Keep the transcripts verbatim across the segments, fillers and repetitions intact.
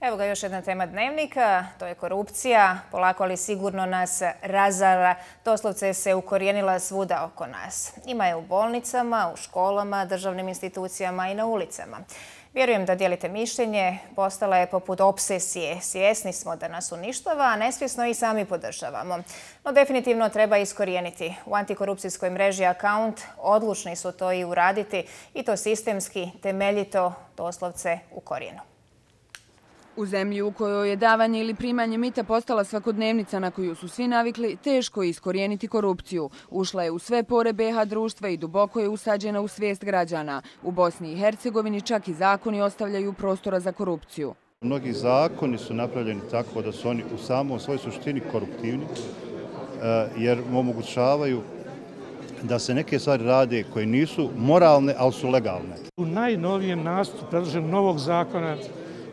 Evo ga još jedna tema dnevnika, to je korupcija. Polako ali sigurno nas razara, doslovce se ukorijenila svuda oko nas. Ima je u bolnicama, u školama, državnim institucijama i na ulicama. Vjerujem da dijelite mišljenje, postala je poput obsesije. Svjesni smo da nas uništava, a nesvjesno i sami podržavamo. No definitivno treba iskorijeniti. U antikorupcijskoj mreži Account odlučni su to i uraditi, i to sistemski, temeljito, doslovce u korijenu. U zemlji u kojoj je davanje ili primanje mita postala svakodnevnica na koju su svi navikli, teško je iskorijeniti korupciju. Ušla je u sve pore be ha društva i duboko je usađena u svijest građana. U Bosni i Hercegovini čak i zakoni ostavljaju prostora za korupciju. Mnogi zakoni su napravljeni tako da su oni u samom svojoj suštini koruptivni, jer omogućavaju da se neke stvari rade koje nisu moralne, ali su legalne. U najnovijem nacrtu predloženog novog zakona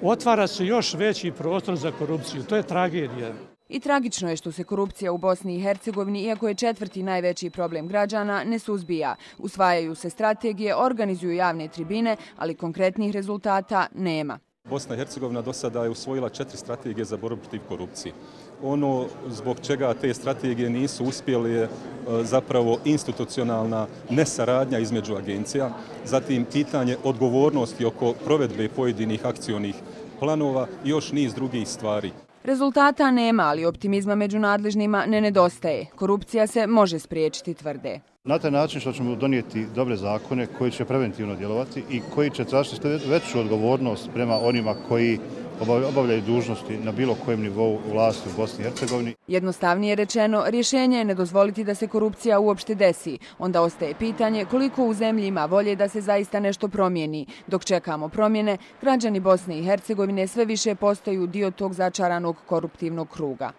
otvara se još veći prostor za korupciju. To je tragedija. I tragično je što se korupcija u Bosni i Hercegovini, iako je četvrti najveći problem građana, ne suzbija. Usvajaju se strategije, organizuju javne tribine, ali konkretnih rezultata nema. Bosna i Hercegovina do sada je usvojila četiri strategije za borbu protiv korupcije. Ono zbog čega te strategije nisu uspjeli je zapravo institucionalna nesaradnja između agencija, zatim pitanje odgovornosti oko provedbe pojedinih akcionih planova i još niz drugih stvari. Rezultata nema, ali optimizma među nadležnima ne nedostaje. Korupcija se može spriječiti, tvrde. Na taj način što ćemo donijeti dobre zakone koji će preventivno djelovati i koji će tražiti veću odgovornost prema onima koji obavljaju dužnosti na bilo kojem nivou vlasti u Bosni i Hercegovini. Jednostavnije rečeno, rješenje je ne dozvoliti da se korupcija uopšte desi. Onda ostaje pitanje koliko u zemlji ima volje da se zaista nešto promijeni. Dok čekamo promjene, građani Bosne i Hercegovine sve više postaju dio tog začaranog koruptivnog kruga.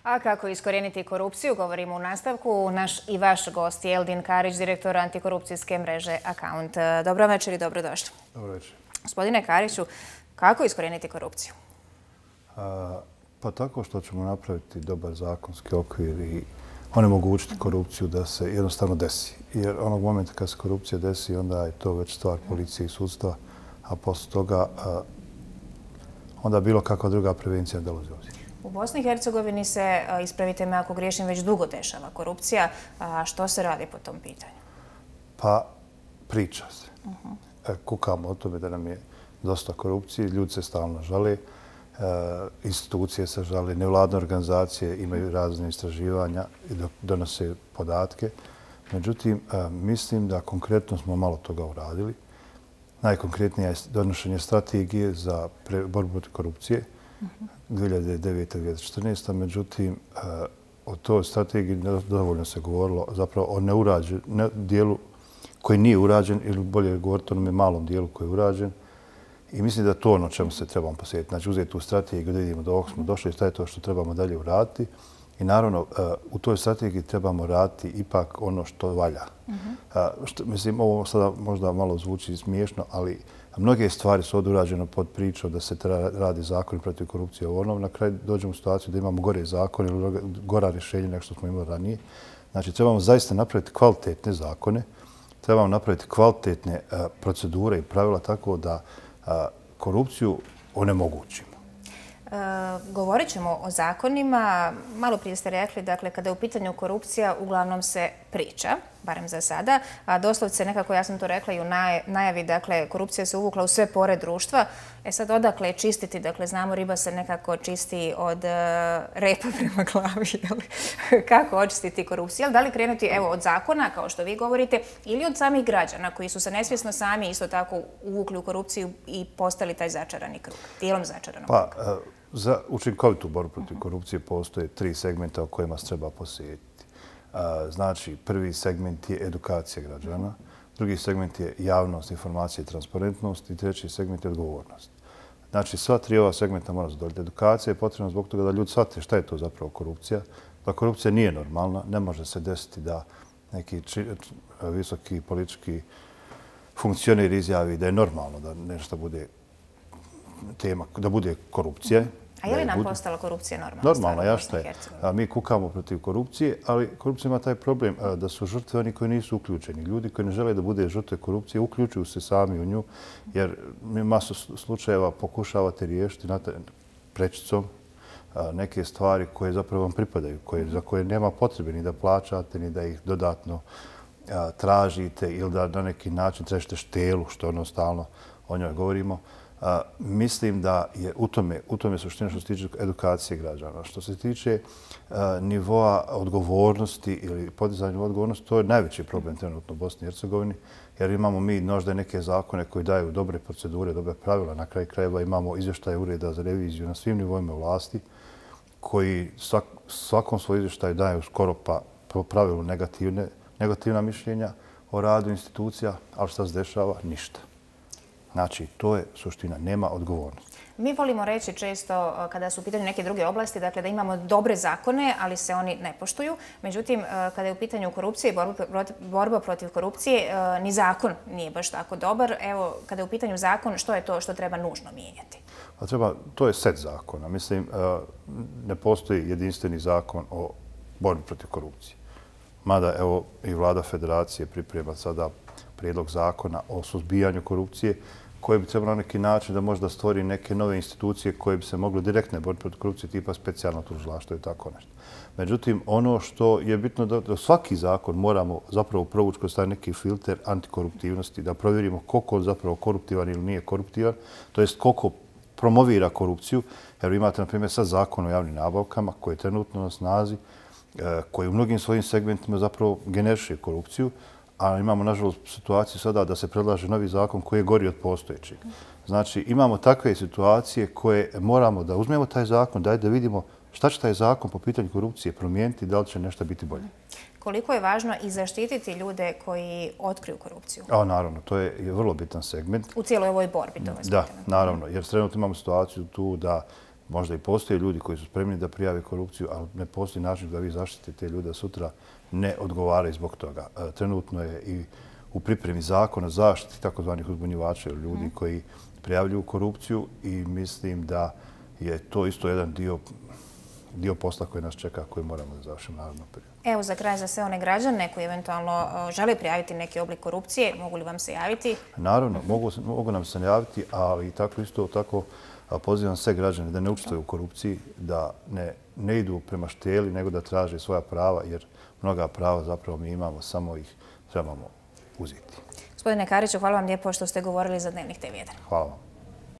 A kako iskorijeniti korupciju, govorimo u nastavku. Naš i vaš gost je Eldin Karić, direktor antikorupcijske mreže Account. Dobro večer i dobrodošli. Dobro večer. Gospodine Kariću, kako iskorijeniti korupciju? A, pa tako što ćemo napraviti dobar zakonski okvir i onemogućiti korupciju da se jednostavno desi. Jer onog momenta kad se korupcija desi, onda je to već stvar policije i sudstva, a posle toga a, onda bilo kakva druga prevencija dolazi u obzir. U Bosni i Hercegovini se, ispravite me ako griješim, već dugo dešava korupcija. A što se radi po tom pitanju? Pa priča se. Uh-huh. Kukamo o tome da nam je dosta korupcije, ljudi se stalno žale, e, institucije se žale, nevladne organizacije imaju razne istraživanja i donose podatke. Međutim, e, mislim da konkretno smo malo toga uradili. Najkonkretnije je donošenje strategije za borbu protiv korupcije dvije hiljade devete do dvije hiljade četrnaeste. Međutim, o toj strategiji dovoljno se govorilo zapravo o neurađenom dijelu koji nije urađen, ili bolje govoriti o onome malom dijelu koji je urađen. I mislim da to ono čemu se trebamo posjetiti. Znači, uzeti tu strategiju da vidimo da ovog smo došli, šta je to što trebamo dalje uraditi. I naravno, u toj strategiji trebamo raditi ipak ono što valja. Uh-huh. Što, mislim, ovo sada možda malo zvuči smiješno, ali mnoge stvari su odurađene pod pričom da se radi zakon protiv korupcije. Ono, na kraju dođemo u situaciju da imamo gore zakone ili gora rješenja nego što smo imali ranije. Znači, trebamo zaista napraviti kvalitetne zakone, trebamo napraviti kvalitetne uh, procedure i pravila tako da uh, korupciju onemogućimo. E, govorit ćemo o zakonima. Malo prije ste rekli, dakle, kada je u pitanju korupcija, uglavnom se priča, barem za sada. A doslovce nekako, ja sam to rekla i u najavi, dakle, korupcija se uvukla u sve pore društva. E sad, odakle čistiti? Dakle, znamo, riba se nekako čisti od uh, repa prema glavi. Kako očistiti korupciju? Da li krenuti, evo, od zakona, kao što vi govorite, ili od samih građana koji su se nesvjesno sami isto tako uvukli u korupciju i postali taj začarani krug, dijelom začaranog pa, kruga? Za učinkovitu borbu protiv korupcije postoje tri segmenta o kojima se treba posjetiti. Znači, prvi segment je edukacija građana, drugi segment je javnost, informacija i transparentnost i treći segment je odgovornost. Znači, sva tri ova segmenta mora zadovoljiti. Edukacija je potrebna zbog toga da ljudi shvate šta je to zapravo korupcija. Da korupcija nije normalna, ne može se desiti da neki či, visoki politički funkcioner izjavi da je normalno da nešto bude tema, da bude korupcija. A je li nam postala korupcija normalna? Normalno, ja šta je. Mi kukamo protiv korupcije, ali korupcija ima taj problem da su žrtve oni koji nisu uključeni. Ljudi koji ne žele da bude žrtve korupcije uključuju se sami u nju, jer mi masu slučajeva pokušavate riješiti prečicom neke stvari koje zapravo vam pripadaju, za koje nema potrebe ni da plaćate, ni da ih dodatno tražite ili da na neki način tražite štelu, što ono stalno o njoj govorimo. Mislim da je u tome, u tome suština što se tiče edukacije građana. Što se tiče nivoa odgovornosti ili podizanja odgovornosti, to je najveći problem trenutno u Bosni i Hercegovini, jer imamo mi možda neke zakone koji daju dobre procedure, dobre pravila. Na kraju krajeva imamo izvještaje ureda za reviziju na svim nivoima vlasti, koji svakom svoj izvještaju daju skoro pa po pravilu negativne, negativna mišljenja o radu institucija, ali šta se dešava? Ništa. Znači, to je suština, nema odgovornosti. Mi volimo reći često kada su u pitanju neke druge oblasti, dakle da imamo dobre zakone, ali se oni ne poštuju. Međutim, kada je u pitanju korupcije i borba protiv korupcije, ni zakon nije baš tako dobar. Evo, kada je u pitanju zakon, što je to što treba nužno mijenjati? Treba, to je set zakona. Mislim, ne postoji jedinstveni zakon o borbi protiv korupcije. Mada, evo, i vlada federacije priprema sada prijedlog zakona o suzbijanju korupcije, koje bi trebalo na neki način da možda stvori neke nove institucije koje bi se moglo direktne boriti protiv korupcije, tipa specijalno tužilaštvo i tako nešto. Međutim, ono što je bitno da svaki zakon moramo zapravo provući kroz taj neki filter antikoruptivnosti, da provjerimo koliko on zapravo koruptivan ili nije koruptivan, to jest koliko promovira korupciju. Jer imate, na primjer, sad zakon o javnim nabavkama koji je trenutno na snazi, koji u mnogim svojim segmentima zapravo generiše korupciju, a imamo, nažalost, situaciju sada da se predlaže novi zakon koji je gori od postojećeg. Znači, imamo takve situacije koje moramo da uzmemo taj zakon, daj da vidimo šta će taj zakon po pitanju korupcije promijeniti i da li će nešto biti bolje. Koliko je važno i zaštititi ljude koji otkriju korupciju? A, naravno, to je vrlo bitan segment. U cijeloj ovoj borbi, to vas Da, naravno, jer trenutno imamo situaciju tu da možda i postoje ljudi koji su spremni da prijave korupciju, ali ne postoji način da vi zaštitite te ljude sutra ne odgovaraju zbog toga. Trenutno je i u pripremi zakona zaštiti takozvanih uzbunjivača ili ljudi koji prijavljuju korupciju i mislim da je to isto jedan dio, dio posla koji nas čeka, koji moramo da završimo naravno prije. Evo za kraj za sve one građane koji eventualno žele prijaviti neki oblik korupcije, mogu li vam se javiti? Naravno, mogu, mogu nam se javiti, ali tako isto tako pozivam sve građane da ne učestvuju u korupciji, da ne, ne idu prema šteli, nego da traže svoja prava, jer mnoga prava zapravo mi imamo, samo ih trebamo uzeti. Gospodine Kariću, hvala vam lijepo što ste govorili za Dnevnik te jedan. Hvala vam.